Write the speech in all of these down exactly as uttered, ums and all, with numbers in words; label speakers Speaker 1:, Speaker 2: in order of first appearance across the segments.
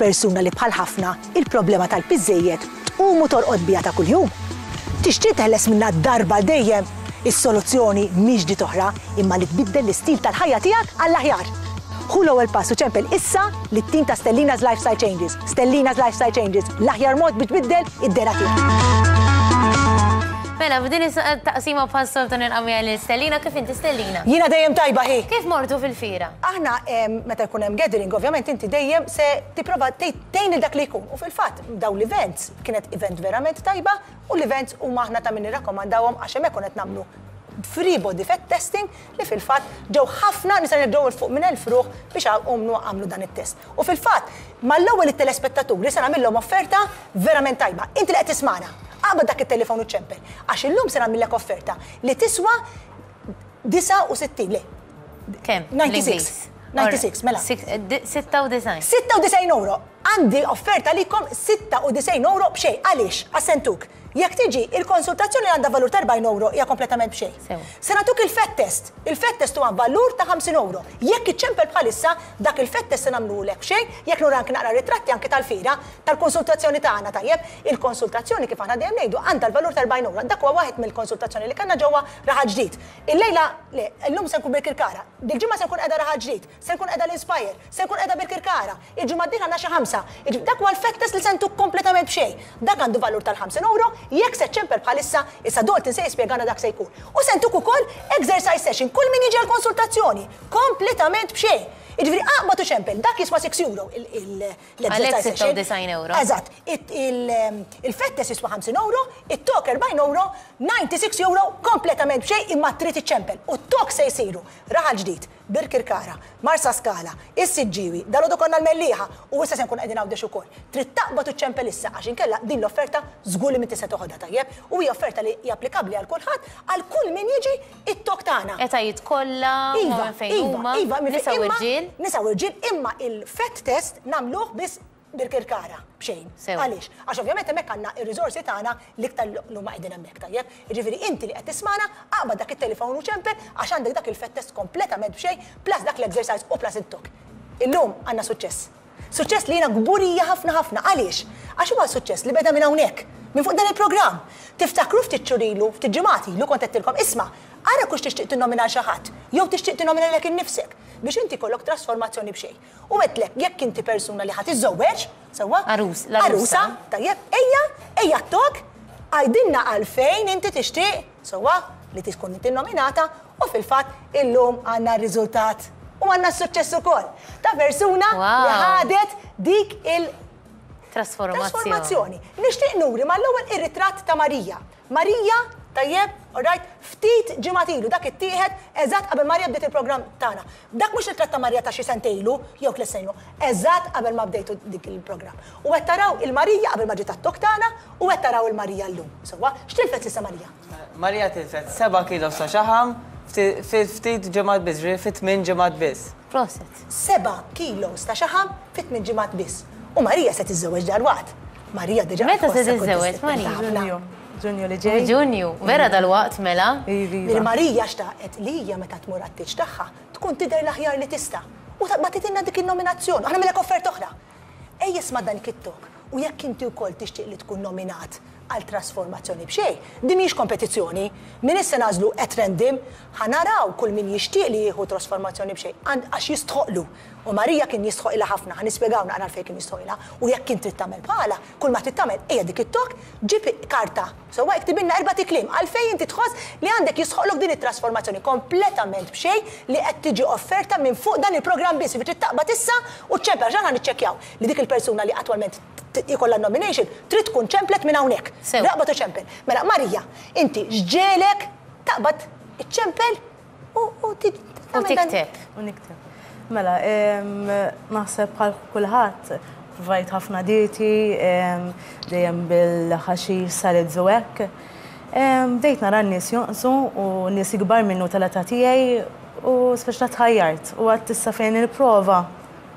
Speaker 1: Inti persuna li bħal ħafna il-problema tal-piż żejjed tqum u torqod biha ta' kuljum. Tixtieq teħles minna darba dejjem? Is-soluzzjoni mhix di toħra, imma li tbiddel l-istil tal-ħajja tiegħek għall-aħjar. Ħu l-ewwel pass u ċempel issa lit-tim ta' Stellina's Lifestyle Changes. Stellina's Lifestyle Changes, l-aħjar mod biex tbiddel id-dehra tiegħek.
Speaker 2: Mela, f'din is-taqsima bħas-soltu nilqa' lil Stellina. Kif inti, Stellina?
Speaker 1: Jiena dejjem tajba, hi.
Speaker 2: Kif mortu fil-fira?
Speaker 1: Aħna em, meta jkun hemm gathering, ovvjament inti dejjem se tipprova tgħin lil dak li jkun. U fil-fatt dawn l-events kienet event verament tajba u l-events huma aħna ta' min nirrakkomandawhom, għax hemmhekk kont nagħmlu free body fat testing li fil-fatt ġew ħafna nisa, ġew 'il fuq minn elf ruħ biex għamlu għamlu dan it-test. U fil-fatt mal-ewwel it-telespettaturi se nagħmilhom offerta verament tajba. Inti li qed tismana, aqbad dak it-telefon u ċempel. Għax illum se nagħmillek offerta li tiswa disgħa u sittin, le.
Speaker 2: Kemm?
Speaker 1: disgħa u disgħin. disgħa u disgħin, mela.
Speaker 2: sitta u disgħin.
Speaker 1: sitta u disgħin euro. Għandi offerta likom sitta u disgħin euro b'xejn. Għaliex? Assentuk. Jekk tiġi, il-konsultazzjoni li għandha valur ta' erbgħin euro hija kompletament b'xejn.
Speaker 2: Sew.
Speaker 1: Se nagħtuk il-fat test. Il-fat test huwa valur ta' ħamsin euro. Jekk iċċempel bħalissa, dak il-fat test se nagħmlulek b'xejn, jekk nura anke naqra ritratti anke tal-fira, tal-konsultazzjoni tagħna, tajjeb, il-konsultazzjoni, kif aħna dejjem ngħidu, għandha l-valur ta' erbgħin euro. Dak huwa waħed mill-konsultazzjoni li kellna ġewwa Raħal Ġdid. Illejla, le, illum se nkun Birkirkara. Dil-ġimgħa se nkun qiegħda Raħal Ġdid, se nkun qiegħda l-Inspire, se nkun qiegħda Birkirkara. Il-ġimgħa d-dieħla għandna xi ħamsa. Dak huwa l-fat test li se ntuk kompletament b'xejn. Dak għandu valur tal-ħamsin euro, jekk se ċempel bħalissa, issa Dalton se jispjegana dak se jkun. U se ntuk ukoll exercise session, kull min jiġi għal-konsultazzjoni, kompletament b'xejn. Jiġifieri aqbad u ċempel, dak jiswa sitt euro l-exercise
Speaker 2: Għalhekk
Speaker 1: session.
Speaker 2: sitta u disgħin euro.
Speaker 1: Eżatt, il-fat test jiswa ħamsin euro, it-talk erbgħin euro, disgħa u disgħin euro kompletament b'xejn, imma trid iċċempel. U t-talk se jsiru Raħal Ġdid, Birkirkara, Marsa Skala, is-Siġġiwi, dalgħodu konna l-Mellieħa u issa se nkun qegħdin Għawdex ukoll. Trid taqbad u ċempel issa, għax inkella din l-offerta żgur li m'intix se toħodha, tajjeb, u hija offerta li hija applikabbli għal kulħadd, għal kull min jiġi it-talk tagħna.
Speaker 2: Etajiet kollha,
Speaker 1: Iva,
Speaker 2: minn fejn
Speaker 1: iva,
Speaker 2: huma,
Speaker 1: iva, minn
Speaker 2: nisa
Speaker 1: fejn-
Speaker 2: u
Speaker 1: imma-
Speaker 2: rġiel.
Speaker 1: Nisa u rġiel, imma il-fat test nagħmluh biss Birkirkara, b'xejn.
Speaker 2: Sew.
Speaker 1: Għaliex? Għax ovvjament hemmhekk għandna ir-riżorsi tagħna l-iktar li huma qegħdin hemmhekk, tajjeb. Jiġifieri inti li qed tismana, aqbad dak it-telefon u ċempel, għax għandek dak il-fat test kompletament b'xejn, plus dak l-exercise u plus it-talk. Illum għandna suċċess. Suċċess li jiena kburija ħafna ħafna. Għaliex? Għax huwa suċċess li beda minn hawnhekk, minn fuq dan il-programm. Tiftakru ftit xhur ilu, ftit ġimgħat ilu kont għedtilkom, isma', ara kux tixtieq tinnomina xi ħadd, jew tixtieq tinnomina lilek innifsek biex inti kollok trasformazzjoni b'xejn. U għedtlek, jekk inti persuna li ħa tiżżewweġ, sewwa?
Speaker 2: Għarus, l-għarusa.
Speaker 1: Għarusa, tajjeb, ejja, ejja talk, għajdinna għalfejn inti tixtieq, sewwa, li tkun inti nominata, u fil-fatt illum għandna r-riżultat u għandna s-suċċess ukoll ta' persuna li
Speaker 2: Wow.
Speaker 1: ħadet dik il-
Speaker 2: Trasformazzjoni.
Speaker 1: trasformazzjoni. Nixtieq nuri mal-ewwel ir-ritratt ta' Marija. Marija, tajjeb, alright, ftit ġimgħat ilu, dak ittieħed eżatt qabel Marija bdiet il-programm tagħna. Dak mhux ritratt ta' Marija ta' xi sentejn ilu jew tliet snin ilu, eżatt qabel ma bdejtu dik il-programm. U qed taraw il-Marija qabel ma ġiet għat-talk tagħna u qed taraw il-Marija llum. Sewwa, x'tilfet s'issa Marija?
Speaker 3: Marija tilfet seba' kilo ta' xaħam fi ftit ġimgħat biss, ġifieri fi tmien ġimgħat biss.
Speaker 2: Prosit.
Speaker 1: Seba' kilos ta' xaħam fi tmien ġimgħat biss. U Marija se tiżżewweġ dalwaqt. Marija diġà
Speaker 2: Meta se
Speaker 1: tħossha
Speaker 2: tiżżewweġ,
Speaker 1: kuntenta
Speaker 2: Marija?
Speaker 1: ħafna.
Speaker 4: Ġunju. Ġunju li ġej.
Speaker 2: Ġunju, vera dal-waqt mela.
Speaker 4: Iva, iva.
Speaker 1: Il-Marija xtaqet li hija meta tmur għat-tieġ tagħha tkun tidher l-aħjar li tista'. U ta' bagħtitilna dik il-nominazzjoni. Aħna millek offerta oħra. Ejja isma' dan it-talk u jekk inti wkoll tixtieq li tkun nominat għal trasformazzjoni b'xejn, din mhijiex kompetizzjoni. Min issa nagħżlu at random, ħa naraw kull min jixtieq li jieħu trasformazzjoni b'xejn għand- għax jistħoqlu. U Marija kien jistħoqilha ħafna, ħa nispjegaw naqra għalfejn kien jistħoqilha. U jekk inti trid tagħmel bħala, kull ma trid tagħmel ejja dik it-talk, ġib karta. Sewwa, iktibilna erba' kliem għalfejn inti tħoss li għandek jistħoqlok din it-trasformazzjoni kompletament b'xejn li qed tiġi offerta minn fuq dan il-programm biss. Jiġifieri trid taqbad issa u ċempel, ġana niċċekkjaw li dik il-persuna li attwalment ikollha nomination trid tkun ċemplet minn hawnhekk.
Speaker 2: Sew.
Speaker 1: Aqbad u ċempel. Mela Marija, inti x'ġiegħlek taqbad iċċempel u u ti-
Speaker 2: U
Speaker 1: tagħmel dan-
Speaker 2: tikteb.
Speaker 4: U nikteb. Mela, em, naħseb bħal kulħadd, provajt ħafna dieti, em, dejjem bil-ħaxix, salads u hekk. Em, Bdejt nara n-nies jonqsu u nies ikbar minnu tal-età tiegħi u speċa tħajjart u għedt issa fejn nipprova,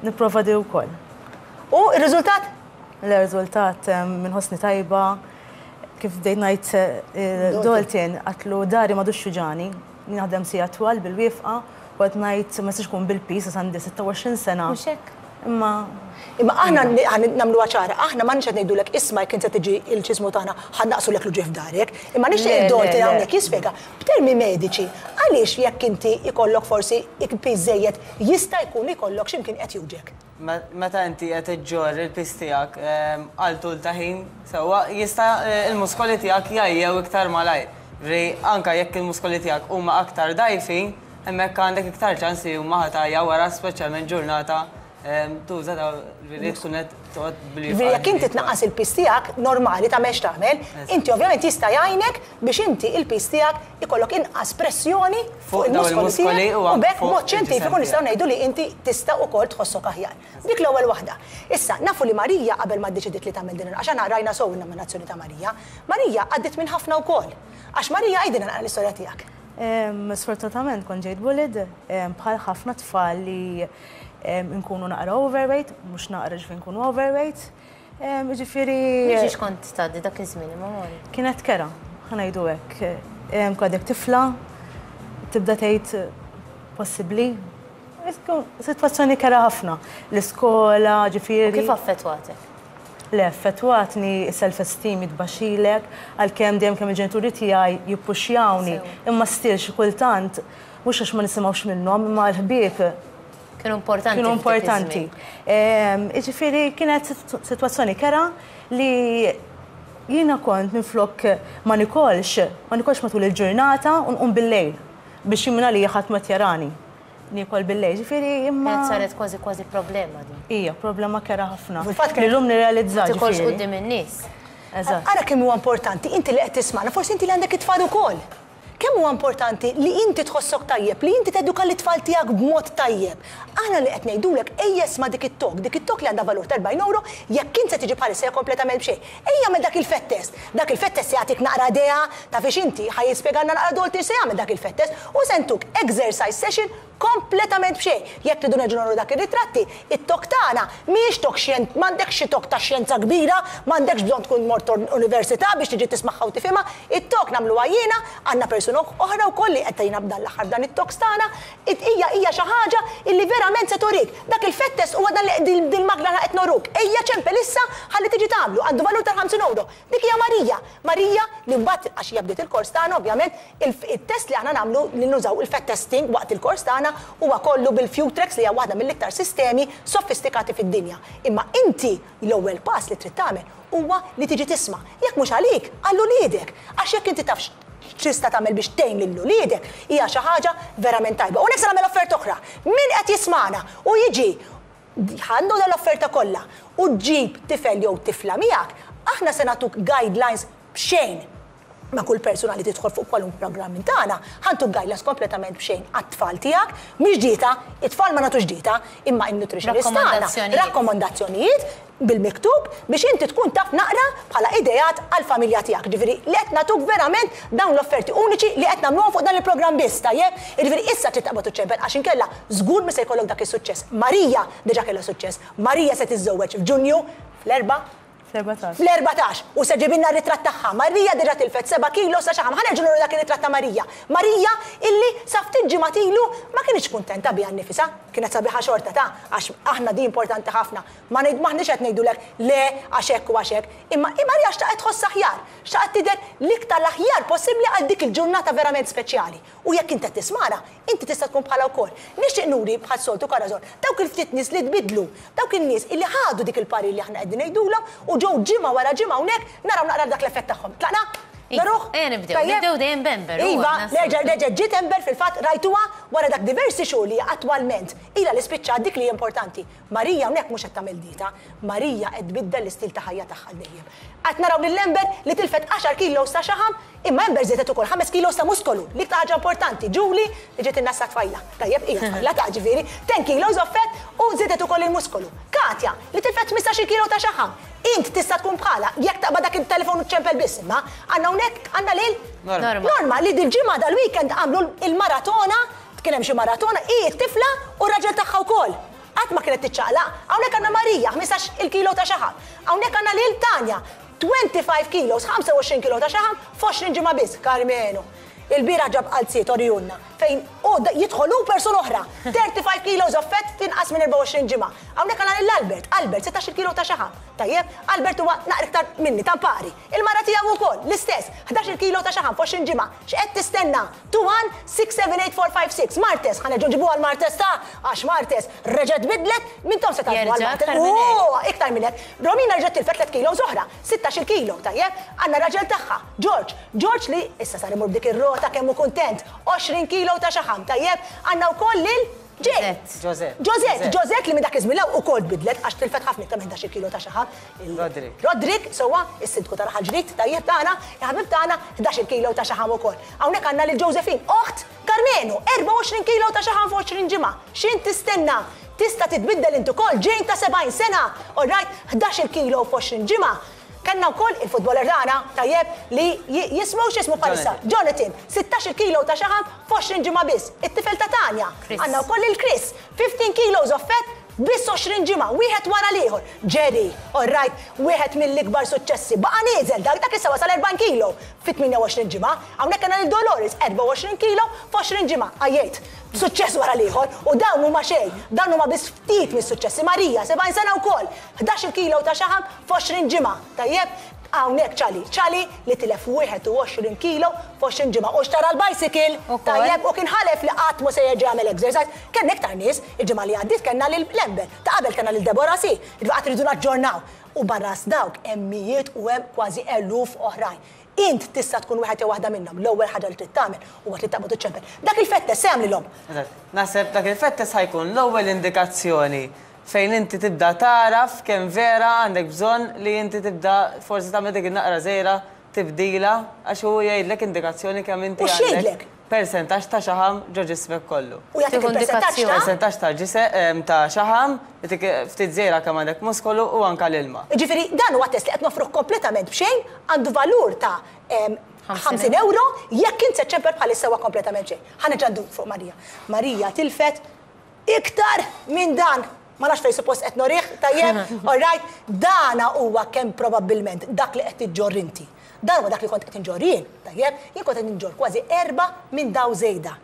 Speaker 4: nipprova di wkoll.
Speaker 1: U r-riżultat?
Speaker 4: Il-riżultat inħossni tajba, kif bdejt ngħid eh, Dalton, għedtlu dahri m'għadux juġgħani, naħdem sigħat twal bil-wieqfa, u għedt ngħid ma nistax kun bil-piż, għandi sitta u għoxrin sena.
Speaker 2: Mhux hekk?
Speaker 4: Imma
Speaker 1: Imma aħna nagħmlu ċara, aħna ma nix qed ngħidulek isma' jekk inti tiġi il-ċismu tagħna ħa naqsulek l-uġigħ f'darek, imma nixtieq id-Dalton hawnhekk jispjega b'termi mediċi għaliex jekk inti ikollok forsi piż żejjed jista' jkun ikollok x'imkien qed juġgħek.
Speaker 3: Meta inti qed iġġorr il-piż tiegħek għal tul ta' ħin, sewwa jista' il-muskoli tiegħek jgħajjew iktar malajr. Ri anka jekk il-muskoli tiegħek huma aktar dgħajfin, hemmhekk għandek iktar ċans li huma ħa tgħajja wara speċjalment ġurnata tuża ta' li tkun qed toqgħod billi.
Speaker 1: Jekk inti tnaqqas il-piż tiegħek normali ta' mex tagħmel, inti ovvjament jista' jgħinek biex inti il-piż tiegħek ikollok inqas pressjoni fuq il-muskoli tiegħek u b'hekk mod xjentifiku nistgħu ngħidu li inti tista' ukoll tħossok aħjar. Dik l-ewwel waħda. Issa nafu li Marija qabel ma ddeċidiet li tagħmel din għax aħna rajna sew in-nominazzjoni ta' Marija, Marija għaddiet minn ħafna wkoll. Għax Marija għidilna naqra l-istorja tiegħek.
Speaker 4: Sfortunatament kont ġejt bullied bħal ħafna tfal li nkunu naqra overweight, mhux naqra ġifieri nkunu overweight. Ġifieri.
Speaker 2: Mhux kont tgħaddi dak iż-żmien imma mori.
Speaker 4: Kienet kerha, ħa ngħidu hekk. Għadek tifla, tibda tgħid possibbli. Sitwazzjoni kerha ħafna. L-iskola, ġifieri.
Speaker 2: Kif affettwatek?
Speaker 4: Le, affettwatni self-esteem jitbaxxilek, għalkemm dejjem kemm il-ġenituri tiegħi jippuxjawni, imma still xi kultant mhux għax ma nisimgħux minnhom, imma l-ħbieb
Speaker 2: Kienu importanti.
Speaker 4: Kienu importanti. Ġifieri kienet sitwazzjoni kerha li jiena kont minflok ma nikolx, ma nikolx matul il-ġurnata u nqum bil-lejl biex jimna li ħadd ma tjarani. Nikol bil-lejl, ġifieri imma.
Speaker 2: Kienet saret kważi kważi problema din.
Speaker 4: Ija, problema kerha ħafna. Fil-fatt li llum nirrealizza.
Speaker 2: Ma tikolx quddiem in-nies.
Speaker 4: Eżatt.
Speaker 1: Ara kemm huwa importanti, inti li qed tisma'na, forsi inti li għandek it-tfal ukoll. Kemm huwa importanti li inti tħossok tajjeb, li inti teduka l-tfal tiegħek b'mod tajjeb. Aħna li qed ngħidulek ejja isma' dik it-talk, dik it-talk li għandha valur ta' erbgħin euro, jekk int se tiġi bħalissa hija kompletament b'xejn. Ejja għamel dak il-fat test. Dak il-fat test jagħtik naqra idea ta' fiex inti ħa jispjegalna naqra Dalton se jagħmel dak il-fat test u se ntuk exercise session kompletament b'xejn. Jekk tridu nerġgħu nuru dak ir-ritratti, it-talk tagħna mhijiex talk xjen, m'għandekx xi talk ta' xjenza kbira, m'għandekx bżonn tkun mort università biex tiġi tismagħha u tifhimha, it-talk nagħmluha jiena, għandna persuna oħra wkoll li qed tgħinna b'dan l-aħħar dan it-talks tagħna, hija hija xi ħaġa illi verament se turik. Dak il-fat test huwa dan li dil-magna qed noruk. Ejja ċempel issa ħalli tiġi tagħmlu, għandu valur ta' ħamsin euro. Dik hija Marija. Marija li mbagħad għax hija bdiet il-kors tagħna ovvjament, il-test li aħna nagħmlu li nużaw il-fat testing waqt il-kors tagħna huwa kollu bil-Futrex li hija waħda mill-iktar sistemi sofistikati fid-dinja. Imma inti l-ewwel pass li trid tagħmel huwa li tiġi tisma'. Jekk mhux għalik, għal uliedek. Għax jekk inti tafx x'tista' tagħmel biex tgħin lil uliedek, hija xi ħaġa verament tajba. U se nagħmel offerta oħra. Min qed jismana u jiġi għandu l-offerta kollha u ġġib tifel jew tifla miegħek, aħna se nagħtuk guidelines b'xejn ma' kull persuna li tidħol fuq kwalunkwe programm minn tagħna, ħa ntuk guidelines kompletament b'xejn għat-tfal tiegħek, mhix dieta, it-tfal ma nagħtux dieta, imma in-nutritionist tagħna rakkomandazzjonijiet bil-miktub biex inti tkun taf naqra bħala ideat għal-familja tiegħek. Ġifieri li qed nagħtuk verament dawn l-offerti uniċi li qed nagħmluhom fuq dan il-programm biss, tajjeb? Ġifieri issa trid taqbad iċċempel għax inkella żgur mi se jkollok dak is-suċċess. Marija diġà kellha suċċess. Marija se tiżżewweġ f'Ġunju fl-erba' Fl-erbatax, u se ġibilna ritratt tagħha. Marija diġà tilfet seba' kilo sa xaħam. Ħa nerġgħu nuru dak ir-ritratt ta' Marija. Marija illi sa ftit ġimgħat ilu ma kienx kuntenta biha nnifisha, kienet sabiħa xorta ta' għax aħna di importanti ħafna. Ma maħniex qed ngħidulek le għax hekk u għax hekk, imma Marija xtaqet tħoss aħjar, xtaqet tidher l-iktar l-aħjar possibbli għal dik il-ġurnata verament speċjali. U jekk inti tismana, inti tista' tkun bħala wkoll. Nixtieq nuri bħal soltu Corazon, dawk il-ftit nies li tbidlu, dawk in-nies illi ħadu dik il-parir li aħna qegħdin ngħidulhom u ġew ġimgħa wara ġimgħa hawnhekk naraw naqra dak l-effett tagħhom. Tlaqna? Naruh?
Speaker 2: Ejja nibdew, nibdew dejjem b'Ember.
Speaker 1: Iva, nerġa' nerġa' ġiet Ember fil-fatt rajtuha wara dak diversi xhur li attwalment ilha li spiċċat dik li importanti. Marija hawnhekk mhux qed tagħmel dieta, Marija qed tbiddel l-istil ta' ħajja tagħha dejjem. Qed naraw lil Ember li tilfet għaxar kilos ta' xaħam, imma Ember żiedet ukoll ħames kilos ta' muskolu. L-iktar ħaġa importanti, Julie li ġiet in-nassa tfajla. Tajjeb, hija tfajla ta' ġifieri, ten kilos of fat u żiedet ukoll il-muskolu. Katja li tilfet ħmistax-il kilo ta' xaħam. Int tista' tkun bħala, jekk taqbad dak il-telefon u ċempel biss, imma għandna hawnhekk għandna lil
Speaker 2: Norma.
Speaker 1: Norma li dil-ġimgħa dal-weekend għamlu il-maratona, kien hemm xi maratona, hi t-tifla u r-raġel tagħha wkoll. Qatt ma kienet tiċċaqlaq. Hawnhekk għandna Marija, ħmistax il-kilo ta' xaħam. Hawnhekk għandna lil Tanja, twenty-five kilos, ħamsa u għoxrin kilo ta' xaħam, f'għoxrin ġimgħa biss, Karmenu. Il-bira ġab qalziet orjunna, fejn u jidħol hu persuna oħra. thirty-five kilos of fat tinqas minn erbgħa u għoxrin ġimgħa. Hawnhekk għandna lil Albert, Albert sittax-il kilo ta' xaħam. Tajjeb, Albert huwa naqra iktar minni tampari. Il-mara tiegħu wkoll l-istess, ħdax-il kilo ta' xaħam f'għoxrin ġimgħa. X'qed tistenna? two one six seven eight four five six. Martes, ħa nerġgħu nġibuha l-Martes ta' għax Martes reġgħet bidlet mintom se tagħmlu
Speaker 2: Jerġa'
Speaker 1: għal-Martes.
Speaker 2: aktar minn hekk.
Speaker 1: Oh, iktar minn hekk. Romina reġgħet tilfet tliet kilos oħra, sittax-il kilo, tajjeb? Għandna raġel tagħha, George. George li issa sar imur b'dik ir-rota kemm hu kuntent, għoxrin kilo ta' xaħam, tajjeb? Għandna wkoll lil Jane.
Speaker 3: Josette.
Speaker 1: Josette, Josette li minn dak iż-żmien law ukoll bidlet għax tilfet ħafna iktar minn ħdax-il kilo ta' xaħam. Il-
Speaker 3: Roderick.
Speaker 1: Roderick, sewwa, is-sindku ta' Raħal Ġdid, tajjeb tagħna, il-ħabib tagħna, ħdax-il kilo ta' xaħam ukoll. Hawnhekk għandna lil Josephine, oħt Carmenu, erbgħa u għoxrin kilo ta' xaħam f'għoxrin ġimgħa. X'int tistenna? Tista' titbiddel inti ukoll, Jane ta' sebgħin sena, all right, ħdax-il kilo f'għoxrin ġimgħa. Kellna wkoll il-futboler tagħna, tajjeb, li ji-, jismu x'ismu bħalissa? Jonathan. Jonathan, sittax-il kilo ta' xaħam f'għoxrin ġimgħa biss. It-tifel ta' Tanja.
Speaker 2: Chris.
Speaker 1: Għandna wkoll il-Chris, fifteen kilos of fat biss għoxrin ġimgħa, wieħed wara l-ieħor. Jerry, all right, wieħed mill-ikbar suċċessi. Baqa' nieżel, dak dak issa wasal erbgħin kilo fi tmienja u għoxrin ġimgħa. Hawnhekk għandna lil Dolores, erbgħa u għoxrin kilo f'għoxrin ġimgħa. Għajjejt, suċċess wara l-ieħor, u dawn huma xejn, dawn huma biss ftit mis-suċċessi. Marija, sebgħin sena wkoll, ħdax-il kilo ta' xaħam f'għoxrin ġimgħa. Tajjeb, hawnhekk ċali, ċali li tilef wieħed u għoxrin kilo f'għoxrin ġimgħa. U xtara l-bicycle,
Speaker 2: Ukoll.
Speaker 1: tajjeb, u kien ħalef li qatt mhu se jerġa' jagħmel exercise. Kellna iktar nies, il-ġimgħa li għaddiet kellna lil Lember, ta' qabel kellna lil Deborah Si, il-waqt rridu naġġornaw. U barra dawk hemm mijiet u hemm kważi eluf oħrajn. Int tista' tkun wieħed jew waħda minnhom. L-ewwel ħaġa li trid tagħmel huwa trid taqbad iċ-ċempel. Dak il-fat test se jagħmlilhom.
Speaker 3: Eżatt. Naħseb dak il-fat test ħa jkun l-ewwel indikazzjoni fejn inti tibda taraf kemm vera għandek bżonn li inti tibda forsi tagħmel dik in-naqra żgħira tibdila għax hu jgħidlek indikazzjoni kemm inti
Speaker 1: U x'jgħidlek?
Speaker 3: għandek persentaġġ ta' xaħam ġo ġismek kollu.
Speaker 1: U jagħtik
Speaker 2: Tieħu
Speaker 1: il-persentaġġ ta'
Speaker 2: indikazzjoni.
Speaker 3: Persentaġġ ta' ġisem ta' xaħam, jagħtik ftit żgħira kemm għandek muskolu u anke l-ilma.
Speaker 1: Ġifieri dan huwa test li qed nofruh kompletament b'xejn, għandu valur ta' em,
Speaker 2: Ħamsin
Speaker 1: ħamsin euro jekk int se ċemper bħalissa huwa kompletament xejn. Ħa nerġa' ndur fuq Marija. Marija tilfet iktar minn dan. Ma nafx fejn suppost qed norih, tajjeb, all right, dana huwa kemm probabbilment dak li qed iġġorr inti. Dan huwa dak li kont qed inġorr jien, tajjeb, jien kont qed inġorr kważi erba' minn daw żejda.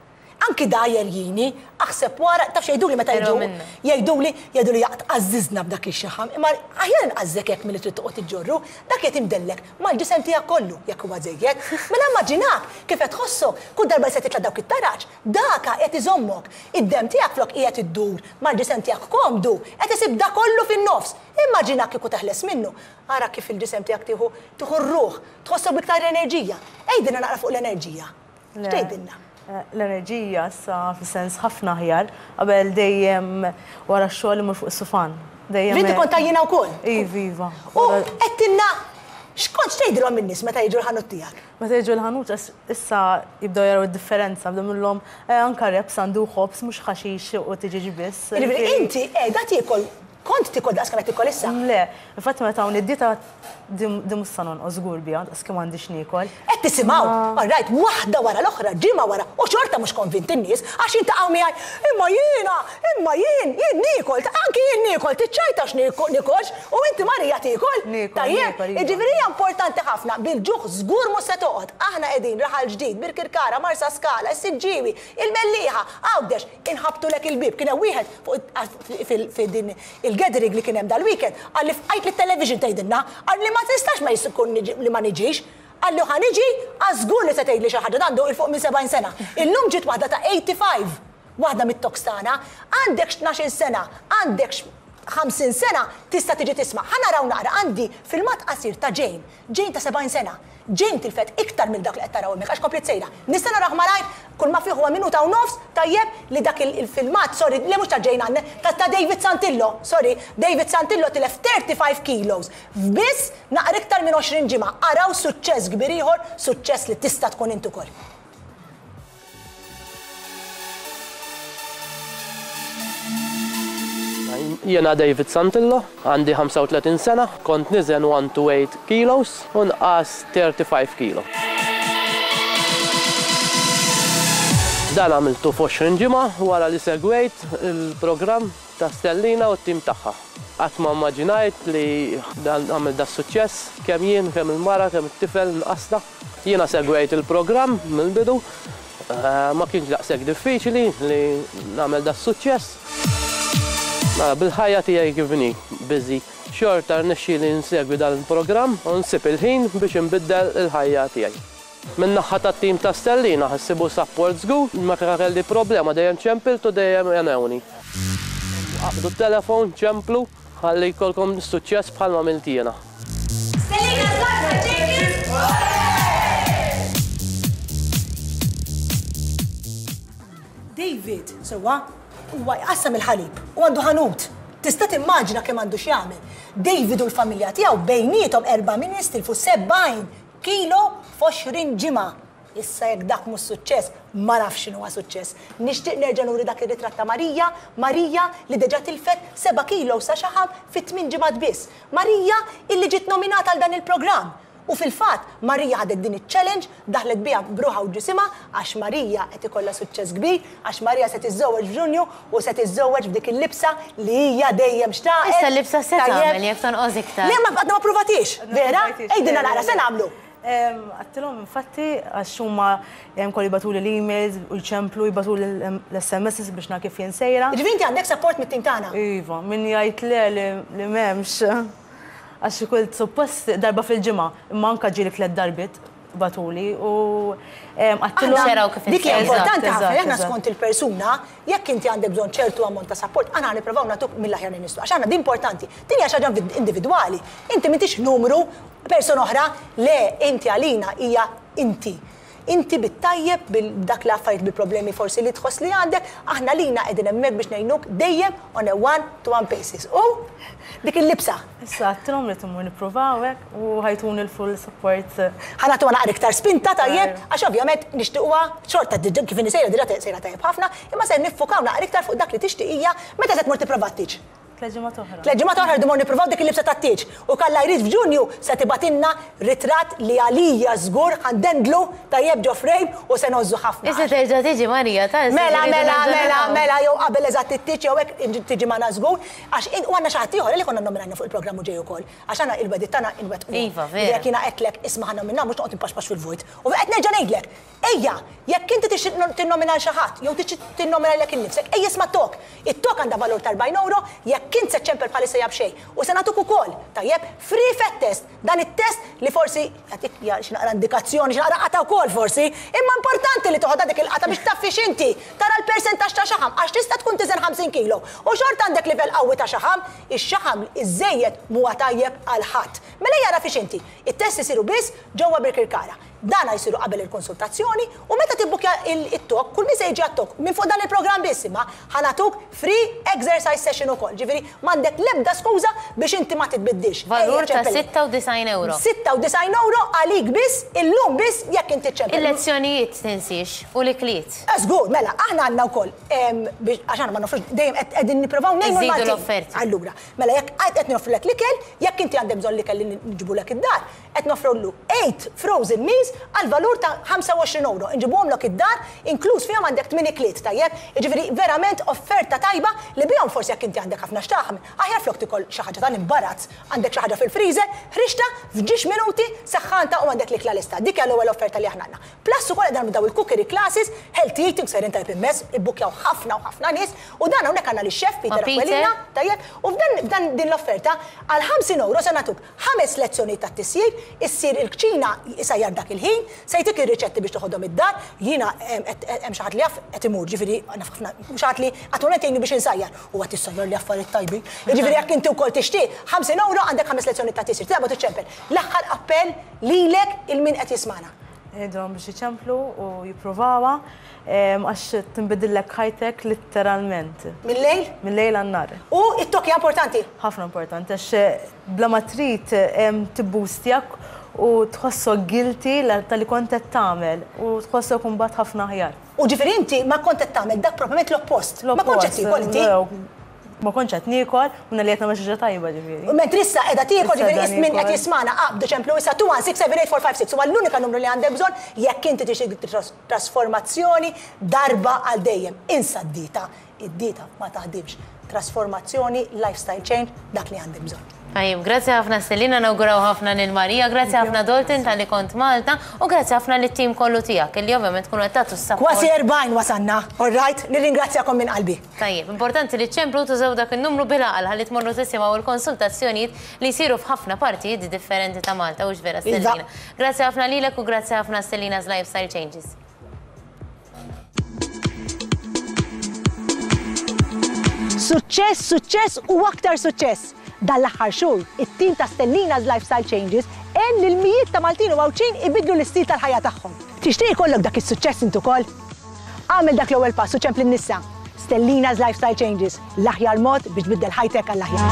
Speaker 1: Anki da jerjini, aħseb wara, taf x'jgħiduli meta
Speaker 2: Erba'
Speaker 1: jiġu,
Speaker 2: minna.
Speaker 1: jgħiduli, jgħiduli jaqt qażżiżna b'dak ix-xaħam, imma aħjar nqażżek hekk milli trid toqgħod iġġorru, dak qed imdellek mal-ġisem tiegħek kollu jekk huwa żejjed. Mela immaġinak kif qed tħossok kull darba li se titla' dawk it-taraġ, daka qed iżommok. Id-dem tiegħek flok qiegħed iddur mal-ġisem tiegħek komdu, qed isib da kollu fin-nofs. Immaġinak kieku teħles minnu. Ara kif il-ġisem tiegħek tieħu tieħu r-ruħ, tħossok b'iktar enerġija. Għidilna naqra fuq l-enerġija.
Speaker 4: Le.
Speaker 1: X'tgħidilna?
Speaker 4: Eh, L-enerġija issa fis-sens ħafna aħjar, qabel dejjem wara x-xogħol imur fuq is-sufan. Dejjem
Speaker 1: Inti kont għajjiena wkoll?
Speaker 4: Iva, iva.
Speaker 1: U għedtilna x'kont x'tgħidilhom in-nies meta jiġu l-ħanut tiegħek?
Speaker 4: Meta jiġu l-ħanut is-, issa jibdew jaraw id-differenza, bdew minnhom, eh, anka wraps għandu ħobż mhux ħaxix u tiġiġ biss.
Speaker 1: Jiġifieri inti qiegħda tiekol, kont tiekol daqs kemm qed tiekol issa?
Speaker 4: Le, infatti meta hawn id-dieta dim mhux sa nonqos żgur biha, daqs kemm għandix niekol.
Speaker 1: Qed tisimgħu, all right, waħda wara l-oħra, ġimgħa wara, u xorta mhux konvinti n-nies, għax jintaqgħu miegħi, imma jiena, imma jien, jien niekol, anki jien niekol, tiċċajta x'niekolx, u inti Marija tiekol.
Speaker 4: Niekol,
Speaker 1: Tajjeb,
Speaker 4: niekol, iva.
Speaker 1: jiġifieri hija importanti ħafna, bil-ġuħ żgur mhux se toqgħod. Aħna qegħdin Raħal Ġdid, Birkirkara, Marsa Skala, is-Siġġiewi, il-Mellieħa, Għawdex, inħabtulek il-bib. Kien hemm wieħed fuq fil-din il-gathering li kien hemm dal-weekend, qalli fqajt li t-television tgħidilna, qalli ma tistax ma jkun li ma niġix. Qalli ħa niġi, għażgur li se tgħidli xi ħaġa, għandu il fuq minn sebgħin sena. Illum ġiet waħda ta' eighty-five, waħda mit-talks tagħna, għandek tnax-il sena, għandek ħamsin sena, tista' tiġi tisma'. Ħa naraw naqra, għandi filmat qasir ta' Jane, Jane ta' sebgħin sena. Jane tilfet iktar minn dak li qed taraw hemmhekk għax komplet sejra. Nista' naraw malajr, kull ma fih huwa minuta u nofs, tajjeb li dak il-, il-filmat, sorry, li mhux ta' Jane Anne, ta', ta' David Santillo, sorry, David Santillo tilef thirty-five kilos. F'biss naqra iktar minn għoxrin ġimgħa. Araw suċċess kbir ieħor, suċċess li tista' tkun int ukoll.
Speaker 5: Jiena David Santillo, għandi ħamsa u tletin sena, kont niżen one to eight kilos u nqas thirty-five kilo. Dan għamiltu f'għoxrin ġimgħa wara li segwejt il-programm ta' Stellina u t-tim tagħha. Qatt ma immaġinajt li dan għamil da suċċess, kemm jien, kemm il-mara, kemm it-tifel nqasna. Jiena segwejt il-programm mill-bidu Ma kienx daqshekk diffiċli li nagħmel da suċċess. Mela bil-ħajja tiegħi kif inhi busy, xorta rnexxieli nsegwi dan il-programm u nsib il-ħin biex inbiddel il-ħajja tiegħi. Min-naħa tat-tim ta' Stellina ħa ssibu support żgur, meta kelli problema dejjem ċempiltu dejjem għenewni. Aqbdu t-telefon, ċemplu, ħalli jkollkom suċċess bħalma għamilt jiena.
Speaker 2: Stellina Zarza Jenkins!
Speaker 1: David, sewwa, huwa jqassam il-ħalib u għandu ħanut. Tista' timmaġina kemm għandu x'jagħmel. David u l-familja tiegħu bejniethom erba' min tilfu sebgħin kilo f'għoxrin ġimgħa. Issa jekk dak mhux suċċess, ma nafx x'inhu huwa suċċess. Nixtieq nerġa' nuri dak ir-ritratt ta' Marija, Marija li diġà tilfet seba' kilo sa xaħam fi tmien ġimgħat biss. Marija illi ġiet nominata għal dan il-programm. U fil-fatt, Marija ħadet din iċ-challenge, daħlet biha bruħa u ġisimha, għax Marija qed ikollha suċċess kbir, għax Marija se tiżżewweġ f'Ġunju u se tiżżewweġ f'dik il-libsa li hija dejjem xtaqet.
Speaker 2: Issa l-libsa se
Speaker 1: Tajjeb.
Speaker 2: tagħmel jekk tonqos iktar.
Speaker 1: Le, ma għadna ma pruvatix, vera?
Speaker 4: Pruvatix,
Speaker 1: Ejdina
Speaker 4: le,
Speaker 1: naqra,
Speaker 4: le,
Speaker 1: se
Speaker 4: le.
Speaker 1: nagħmlu.
Speaker 4: Għedtilhom infatti għax huma kollu jibagħtuli l-emails u jċemplu jibagħtuli l-S M S biex nara kif jien sejra.
Speaker 1: Ġifieri inti għandek support mit-tim tagħna?
Speaker 4: Iva, min jgħid le li m'hemmx. Għax kult suppost darba fil-ġimgħa, imma anke ġieli tliet darbiet bagħtuli u għedtilhom
Speaker 2: Aħna xeraw kif
Speaker 1: Dik hija
Speaker 2: inti.
Speaker 1: importanti
Speaker 4: Eżatt,
Speaker 1: ħafna, aħna
Speaker 4: eżatt.
Speaker 1: skont il-persuna, jekk inti għandek bżonn ċertu ammont ta' support, aħna nippruvaw nagħtuk mill-aħjar li nistgħu. Għax aħna din importanti. Din hija xi ħaġa individwali. Inti m'intix numru, persuna oħra, le inti għalina hija inti. Inti bit-tajjeb, bil-dak l-affarijiet bil-problemi forsi li tħoss li għandek, aħna lina qegħdin hemmhekk biex ngħinuk dejjem on a one-to-one basis. U dik il-libsa.
Speaker 4: Issa għedtilhom li tmur nippruvaw hekk u ħajtuni l-full support.
Speaker 1: Ħa nagħtuha naqra iktar spinta tajjeb,
Speaker 4: Tajjeb.
Speaker 1: għax ovvjament nixtiequha xorta diġà kif inhi sejra diġà sejra tajjeb ħafna, imma se niffukaw naqra iktar fuq dak li tixtieq hija meta se tmur tipprova t-tieġ.
Speaker 4: Tliet ġimgħat oħra.
Speaker 1: Tliet ġimgħat oħra rridu mmorru nippruvaw dik il-libsa tat-tieġ. U kalla jrid f'Ġunju se tibgħatilna ritratt li għalija żgur ħandendlu tajjeb ġo frame u se nożżu ħafna.
Speaker 2: Issa terġa' tiġi Marija, ta' issa
Speaker 1: Mela,
Speaker 2: rridu
Speaker 1: mela,
Speaker 2: nerġa'
Speaker 1: mela,
Speaker 2: naraw.
Speaker 1: mela, jew qabel eżatt it-tieġ jew hekk inġi-, tiġi magħna żgur, għax in-, u għandna xi ħadd ieħor li konna nominajna fuq il-programm u ġej ukoll. Għax aħna il-wedit tagħna inwettqu.
Speaker 2: Iva, vera.
Speaker 1: Jekk jiena qedlek isma' ħa nomina mhux noqgħod inpaxpax fil-vojt. U qed nerġa' ngħidlek, ejja, jekk inti tixtieq no-, tinnomina lil xi ħadd jew tixtieq tinnomina lilek innifsek, ejja isma' tok. It-tok għandha valur ta' erbgħin euro, jekk int se ċempel bħalissa jab xejn. U se nagħtuk ukoll, tajjeb, free fat test, dan it-test li forsi jagħtik ja, xi naqra indikazzjoni, xi naqra qata wkoll forsi, imma importanti li toħodha dik il-qata biex taf fiex inti, tara l-persentaġġ ta' xaħam, għax tista' tkun tiżen ħamsin kilo. U xorta għandek livell qawwi ta' xaħam, ix-xaħam iżejjed huwa tajjeb għal ħadd. Mela jara fiex inti, it-test isiru biss ġewwa Birkirkara. Dana jsiru qabel il-konsultazzjoni u meta tibbukja il-tok, kull min se jiġi għat-tok, minn fuq dan il-programm biss imma ħa nagħtuk free exercise session ukoll. Ġifieri m'għandek l-ebda skuża biex inti ma titbiddilx.
Speaker 2: Valur
Speaker 1: Ejja,
Speaker 2: ta'
Speaker 1: ċempel.
Speaker 2: sitta u disgħin euro.
Speaker 1: Sitta u disgħin euro għalik biss, illum biss jekk inti ċempel.
Speaker 2: Il-lezzjonijiet tinsiex u l-ikliet.
Speaker 1: Żgur, mela, aħna għandna wkoll, em, biex, għax aħna ma nofrux, dejjem qed qegħdin nippruvaw ngħinu
Speaker 2: Iżidu
Speaker 1: l-Maltin.
Speaker 2: l-offerti.
Speaker 1: Allura, mela jekk qed qed nofrulek l-ikel, jekk inti għandek bżonn l-ikel li nġibulek id-dar, qed nofrullu eight frozen meals għal valur ta' ħamsa u għoxrin euro. Inġibuhomlok id-dar, inkluż fihom għandek tmien ikliet, tajjeb? Jiġifieri verament offerta tajba li bihom forsi jekk inti għandek ħafna x'taħam, aħjar flok tikol xi ħaġa tal-imbarazz, għandek xi ħaġa fil-freezer, ħriġta f'ġiex minuti saħħanta u għandek l-ikla lesta. Dik hija l-ewwel offerta li aħna għandna. Plus ukoll qed nagħmlu daw il-cookery classes, healthy eating, sejrin tajb immens, ibbukkjaw ħafna u ħafna nies, u dan hawnhekk għandna lix-chef Peter
Speaker 2: Ma' Peter?
Speaker 1: Aquilina, tajjeb, u f'dan, f'dan din l-offerta għal ħamsin euro se nagħtuk ħames lezzjonijiet ta' tisjir, issir il-kċina isajjar dak il-ħin, se jtik ir-riċetti biex toħodhom id-dar, jiena hemm, qed, hemm xi ħadd li jaf qed imur, ġifieri naf ħafna, xi ħadd li attwalment jgħinni biex insajjar, u qed issajjar li affarijiet tajbin. Jiġifieri jekk inti wkoll tixtieq ħamsin euro għandek ħames lezzjonijiet ta' tisjir, tilgħu tiċċempel. L-aħħar appell lilek il-min qed jismana.
Speaker 4: Ngħidulhom biex iċemplu u jipprovawha, em, għax tinbidillek ħajtek letteralment.
Speaker 1: Mill-lejl?
Speaker 4: Mill-lejl għan-nar.
Speaker 1: U it-tokki hija importanti?
Speaker 4: Ħafna importanti, għax bla ma trid, em, tibbustjak u tħossok guilty la-, tal-li kont qed tagħmel u tħossok imbagħad ħafna aħjar.
Speaker 1: U ġifieri inti ma kont qed tagħmel dak proprjament l-oppost. Ma kontx qed tiekol inti?
Speaker 4: L-oppost, ma kontx qed niekol u li qed nagħmel xi ħaġa tajba ġifieri.
Speaker 1: U mentri issa qiegħda tiekol,
Speaker 4: Issa
Speaker 1: ġifieri
Speaker 4: qiegħda
Speaker 1: is min qed
Speaker 4: niekol.
Speaker 1: jismana qabdu ċemplu issa two one six seven eight four five six huwa l-unika numru li għandek bżonn jekk inti tixtieq tras-, trasformazzjoni darba għal dejjem. Insa d-dieta, id-dieta ma taħdimx. Trasformazzjoni, lifestyle change, dak li għandek bżonn.
Speaker 2: Tajjeb, grazzi ħafna Stellina, nawguraw ħafna lil Marija, grazzi ħafna Dalton talli kont Malta u grazzi ħafna lit-tim kollu tiegħek illi ovvjament tkunu qed tagħtu s-support.
Speaker 1: Kważi erbgħin wasanna, all right? Nirringrazzjakom minn qalbi.
Speaker 2: Tajjeb, importanti li ċemplu tużaw dak in-numru bil-għaqal ħalli tmorru tisimgħu l-konsultazzjonijiet li jsiru f'ħafna partijiet differenti ta' Malta, hux vera Stellina. Grazzi ħafna lilek u grazzi ħafna Stellina's Lifestyle Changes.
Speaker 1: Suċċess, suċċess u aktar suċċess. Dan l-aħħar xhur, it-tim ta' Stellina's Lifestyle Changes għen lil mijiet ta' Maltin u Għawdxin ibiddlu l-istil tal-ħajja tagħhom. Tixtieq ikollok dak is-suċċess int ukoll? Agħmel dak l-ewwel pass u ċempel issa. Stellina's Lifestyle Changes, l-aħjar mod biex tbiddel ħajtek għall-aħjar.